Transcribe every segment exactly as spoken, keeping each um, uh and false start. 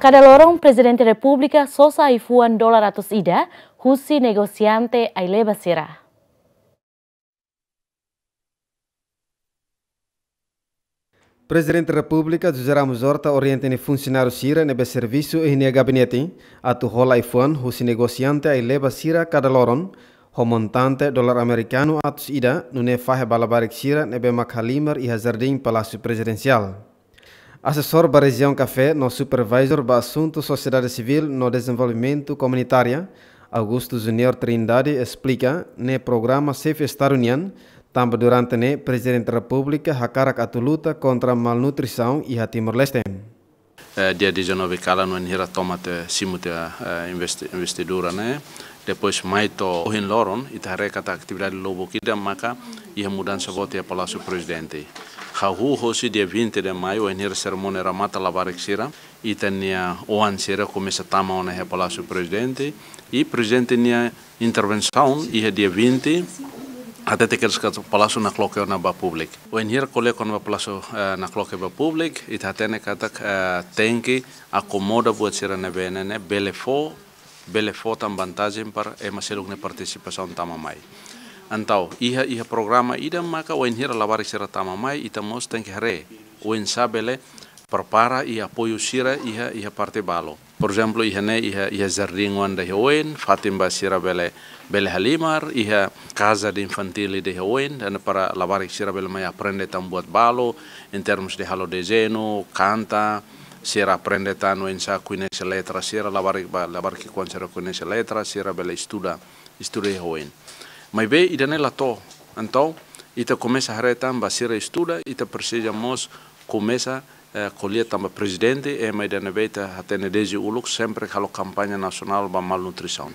Kada loron Prezidente Repúblika sosa ai-fuan dolar atus ida husi negosiante ai-leba sira. Prezidente Repúblika José Ramos Horta orienta nia funsionáriu sira ne'ebé servisu iha nia gabinete atu hola ai-fuan husi negosiante ai-leba sira kada loron, ho montante dolar amerikanu atus ida, nune'e fahe ba labarik sira ne'ebé mak halimar iha Jardín Palásiu Prezidensiál. Asesór ba Rejiaun Café no supervisór ba asuntu sosiedade sivíl no dezenvolvimentu komunitária, Augusto Junior Trindade, esplika ne'e programa Xefe Estadu nian, tanba durante ne'e Prezidente Repúblika hakarak atu luta kontra malnutrisaun iha Timor-Leste. Eh, dia dezanove kalan wainhira toma tiha, simu tiha, eh, investi-, investidura ne'e. Depois mai to'o ohin loron, ita haree katak atividade lubuk ida maka iha mudansa boot iha Palásiu Prezidente. Hahú hosi dia vinte de maio, wainhira serimónia remata labarik sira, ita-nia oan sira komesa tama ona iha Palásiu Prezidente, i Prezidente nia intervensaun iha dia vinte, hatete kedas katak Palásiu nakloke ona ba públiku. Wainhira ko'alia kona-ba Palásiu, eh, nakloke ba públiku, ita hatene katak, eh, tenke akomoda buat sira ne'ebé ne'e, ne'e bele fó, bele fó tan vantajen para ema seluk nia partisipasaun tama mai. Entaun, iha, iha programa ida maka wainhira labarik sira tama mai, ita mós tenke haree oinsá bele prepara i apoiu sira iha, iha parte balu. Por ezemplu, iha ne'e, iha, iha jardín oan ida iha oin, fatin ba sira bele, bele halimar, iha casa de infantil ida iha oin, dan para labarik sira bele mai aprende tan buat balu, em termos de halo dezeñu, kanta, sira aprende tan oinsá koñese letra sira, labarik ba, labarik ki'ikoan sira koñese letra, sira bele estuda, estuda iha oin. Maibé ida-ne'e la to'o. Entaun, ita komesa haree tan ba sira estuda, ita presiza mós komesa, eh, ko'alia tan ba Prezidente, ema ida ne'ebé ita hatene dezde uluk, sempre halo kampaña nasionál ba malnutrisaun.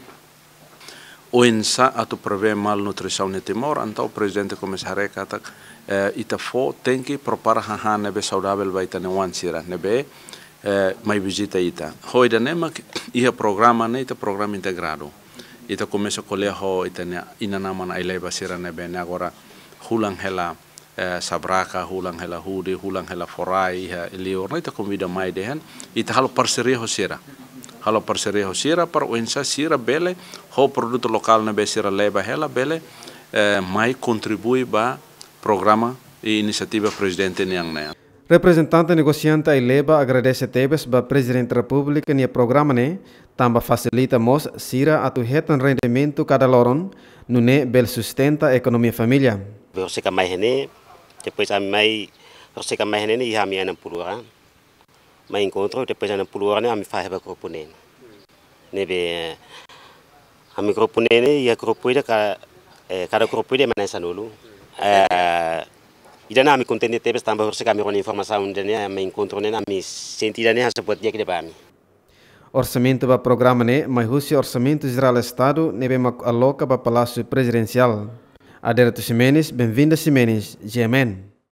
Oinsá atu prevee malnutrisaun iha Timor, entaun Prezidente komesa haree katak, eh, ita fó tenke prepara hahán ne'ebé saudavel ba ita-nia oan sira, ne'ebé, eh, mai vizita ita. Ho ida-ne'e mak iha programa ne'e, ita programa integradu. Ita komesa ko'alia ho ita-nia inan-aman ai-leba sira ne'ebé ne'e agora hulan hela, eh, sabraka, hulan hela hudi, hulan hela forai, iha liur ne'e ita konvida mai dehan, ita halo parseria ho sira. Halo parseria ho sira para oinsá sira bele, ho produtu lokál ne'ebé sira leba hela bele, eh, mai kontribui ba programa i inisiativa Prezidente nian ne'e. Reprezentante negosiante ai-leba agradese tebes ba Prezidente Repúblika nia programa ne'e, tanba fasilita mós sira atu hetan rendimentu kada loron, nune'e bele sustenta ekonomia família. Horisehik mai iha ne'e, depois ami mai, horisehik mai iha ne'e, iha ami enam puluh orang. Mai enkontru, depois enam puluh orang ne'e ami fahe ba grupu neen. Ne'ebé, ami grupu neen, iha grupu ida ka, eh, kada grupu ida ema na'in sanulu. Eh, ida-ne'e ami kontente tebes tanba horisehik ami rona informasaun ida-ne'e, ami enkontru ne'e, ami sente ida-ne'e hanesan buat di'ak ida ba ami. Orsamentu ba programa ne'e mai husi Orsamentu Jerál Estadu ne'ebé mak aloka ba Palásiu Prezidensiál. Adérito Ximenes, Benvinda Ximenes, G M N.